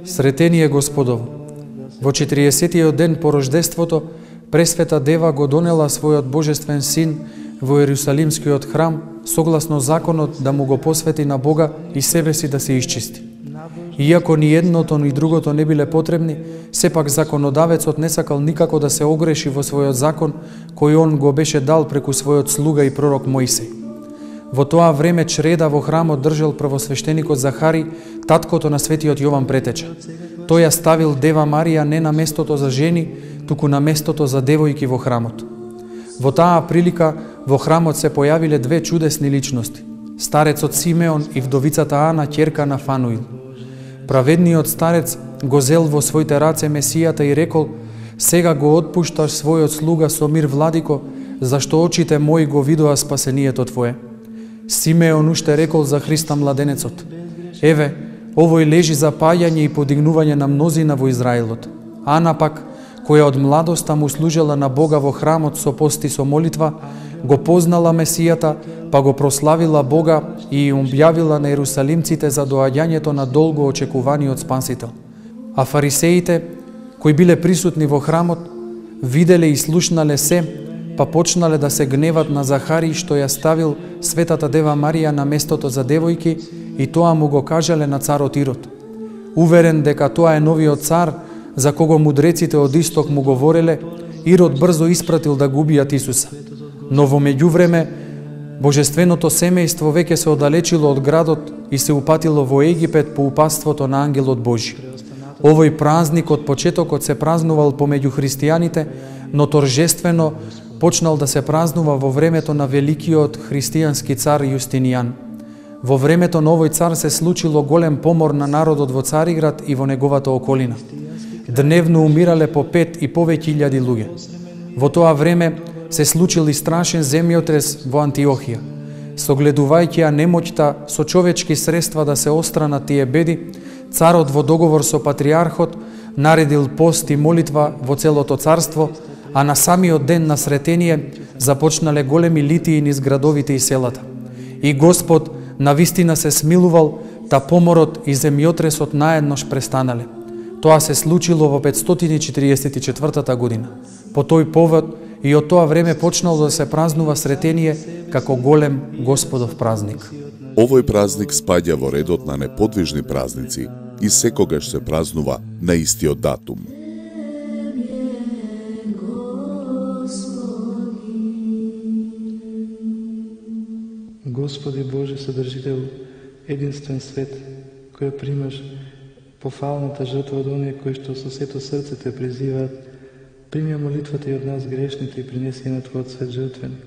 Сретение Господово! Во 40-тиот ден по рождеството, Пресвета Дева го донела својот Божествен Син во Ерусалимскиот храм, согласно законот да му го посвети на Бога и себе си да се исчисти. Иако ни едното ни другото не биле потребни, сепак законодавецот не сакал никако да се огреши во својот закон, кој он го беше дал преку својот слуга и пророк Моисеј. Во тоа време чреда во храмот држал првосвештеникот Захари, таткото на светиот Јован Претеча. Тој ја ставил Дева Марија не на местото за жени, туку на местото за девојки во храмот. Во таа прилика во храмот се појавиле две чудесни личности: старецот Симеон и вдовицата Ана, ќерка на Фануил. Праведниот старец го зел во своите раце Месијата и рекол: сега го отпушташ својот слуга со мир, владико, зашто очите мои го видоа спасението Твое. Симеон уште рекол за Христа младенецот: еве, овој лежи за паѓање и подигнување на мнозина во Израилот. Ана пак, која од младоста му служела на Бога во храмот со пост и со молитва, го познала Месијата, па го прославила Бога и објавила на ерусалимците за доаѓањето на долго очекуваниот Спасител. А фарисеите, кои биле присутни во храмот, виделе и слушнале се, па почнале да се гневат на Захари што ја ставил Светата Дева Марија на местото за девојки, и тоа му го кажале на царот Ирод. Уверен дека тоа е новиот цар, за кого мудреците од исток му говореле, Ирод брзо испратил да го убијат Исуса. Но во меѓувреме, божественото семејство веќе се оддалечило од градот и се упатило во Египет по упатството на ангелот Божи. Овој празник од почетокот се празнувал помеѓу христијаните, но торжествено почнал да се празнува во времето на великиот христијански цар Јустинијан. Во времето на овој цар се случило голем помор на народот во Цариград и во неговата околина. Дневно умирале по 5 и повеќе илјади луѓе. Во тоа време се случил и страшен земјотрес во Антиохија. Согледувајќи ја немоќта со човечки средства да се остранат тие беди, царот во договор со патриархот наредил пост и молитва во целото царство, а на самиот ден на сретение започнале големи литии низ градовите и селата. И Господ навистина се смилувал, та поморот и земјотресот наеднош престанале. Тоа се случило во 544 година. По тој повод и од тоа време почнало да се празнува сретение како голем Господов празник. Овој празник спаѓа во редот на неподвижни празници и секогаш се празнува на истиот датум. Господи Боже, Содржител, единствен свет, кој примаш пофалната жртва од оние кои што со сето срце те призиваат, прими молитвата и од нас грешните и принеси на Твојот свет жртвен.